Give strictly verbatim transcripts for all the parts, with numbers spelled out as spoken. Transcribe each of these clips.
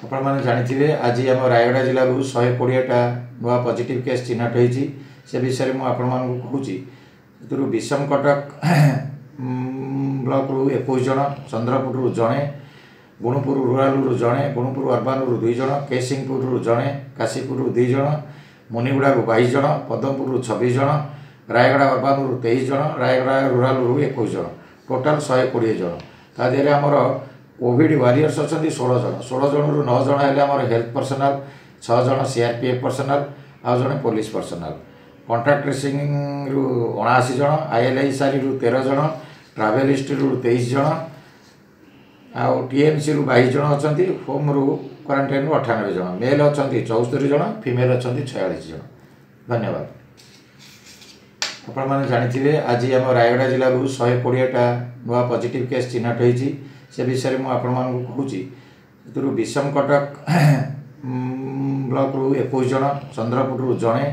ଆପଣମାନେ ଜାଣିଥିବେ, ଆଜି ଆମ ରାୟଗଡ଼ା ଜିଲ୍ଲାରୁ ଶହେ କୋଡ଼ିଏଟା ନୂଆ ପଜିଟିଭ୍ କେସ୍ ଚିହ୍ନଟ ହୋଇଛି। ସେ ବିଷୟରେ ମୁଁ ଆପଣମାନଙ୍କୁ କହୁଛି। ସେଥିରୁ ବିଷମକଟକ ବ୍ଲକରୁ ଏକୋଇଶ ଜଣ, ଚନ୍ଦ୍ରପୁରରୁ ଜଣେ, ଗୁଣୁପୁର ରୁରାଲରୁ ଜଣେ, ଗୁଣୁପୁର ଅର୍ବାନରୁ ଦୁଇ ଜଣ, କେସିଂପୁରରୁ ଜଣେ, କାଶୀପୁରରୁ ଦୁଇ ଜଣ, ମୁନିଗୁଡ଼ାରୁ ବାଇଶ ଜଣ, ପଦମପୁରରୁ ଛବିଶ ଜଣ, ରାୟଗଡ଼ା ଅର୍ବାନରୁ ତେଇଶ ଜଣ, ରାୟଗଡ଼ା ରୁରାଲରୁ ଏକୋଇଶ ଜଣ, ଟୋଟାଲ୍ ଶହେ କୋଡ଼ିଏ ଜଣ। ତା ଦେହରେ ଆମର କୋଭିଡ଼ ୱାରିୟର୍ସ ଅଛନ୍ତି ଷୋହଳ ଜଣ। ଷୋହଳ ଜଣରୁ ନଅ ଜଣ ହେଲେ ଆମର ହେଲ୍ଥ ପର୍ସନାଲ୍, ଛଅ ଜଣ C R P F personnel ଆଉ ଜଣେ ପୋଲିସ ପର୍ସନାଲ୍। କଣ୍ଟାକ୍ଟ ଟ୍ରେସିଂରୁ ଅଣାଅଶୀ ଜଣ, I L I ସାରିରୁ ତେର ଜଣ, ଟ୍ରାଭେଲ୍ ହିଷ୍ଟ୍ରିରୁ ତେଇଶ ଜଣ ଆଉ ଟି ଏମ୍ ସିରୁ ବାଇଶ ଜଣ ଅଛନ୍ତି। ହୋମ୍ରୁ କ୍ୱାରେଣ୍ଟାଇନ୍ରୁ ଅଠାନବେ ଜଣ। ମେଲ୍ ଅଛନ୍ତି ଚଉସ୍ତରୀ ଜଣ, ଫିମେଲ୍ ଅଛନ୍ତି ଛୟାଳିଶ ଜଣ। ଧନ୍ୟବାଦ। ଆପଣମାନେ ଜାଣିଥିବେ, ଆଜି ଆମ ରାୟଗଡ଼ା ଜିଲ୍ଲାରୁ ଶହେ କୋଡ଼ିଏଟା ନୂଆ ପଜିଟିଭ୍ କେସ୍ ଚିହ୍ନଟ ହୋଇଛି। ସେ ବିଷୟରେ ମୁଁ ଆପଣମାନଙ୍କୁ କହୁଛି। ସେଥିରୁ ବିଷମକଟକ ବ୍ଲକରୁ ଏକୋଇଶ ଜଣ, ଚନ୍ଦ୍ରପୁରରୁ ଜଣେ,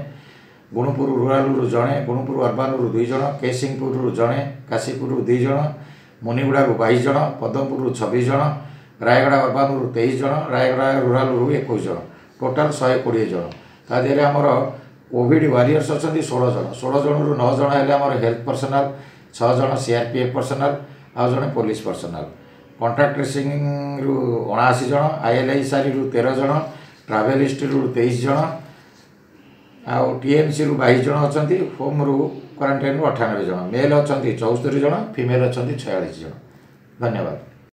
ଗୁଣୁପୁର ରୁରାଲରୁ ଜଣେ, ଗୁଣୁପୁର ଅର୍ବାନରୁ ଦୁଇ ଜଣ, କେସିଂପୁରରୁ ଜଣେ, କାଶୀପୁରରୁ ଦୁଇ ଜଣ, ମୁନିଗୁଡ଼ାରୁ ବାଇଶ ଜଣ, ପଦମପୁରରୁ ଛବିଶ ଜଣ, ରାୟଗଡ଼ା ଅର୍ବାନରୁ ତେଇଶ ଜଣ, ରାୟଗଡ଼ା ରୁରାଲରୁ ଏକୋଇଶ ଜଣ, ଟୋଟାଲ୍ ଶହେ କୋଡ଼ିଏ ଜଣ। ତା ଦେହରେ ଆମର କୋଭିଡ଼ ୱାରିୟର୍ସ ଅଛନ୍ତି ଷୋହଳ ଜଣ। ଷୋହଳ ଜଣରୁ ନଅ ଜଣ ହେଲେ ଆମର ହେଲ୍ଥ ପର୍ସନାଲ୍, ଛଅ ଜଣ C R P F personnel ଆଉ ଜଣେ ପୋଲିସ ପର୍ସନାଲ୍। କଣ୍ଟାକ୍ଟ ଟ୍ରେସିଂରୁ ଅଣାଅଶୀ ଜଣ, I L I ସାରିରୁ ତେର ଜଣ, ଟ୍ରାଭେଲ୍ ହିଷ୍ଟ୍ରିରୁ ତେଇଶ ଜଣ ଆଉ ଟି ଏମ୍ ସିରୁ ବାଇଶ ଜଣ ଅଛନ୍ତି। ହୋମ୍ରୁ କ୍ୱାରେଣ୍ଟାଇନ୍ରୁ ଅଠାନବେ ଜଣ। ମେଲ୍ ଅଛନ୍ତି ଚଉସ୍ତରୀ ଜଣ, ଫିମେଲ୍ ଅଛନ୍ତି ଛୟାଳିଶ ଜଣ। ଧନ୍ୟବାଦ।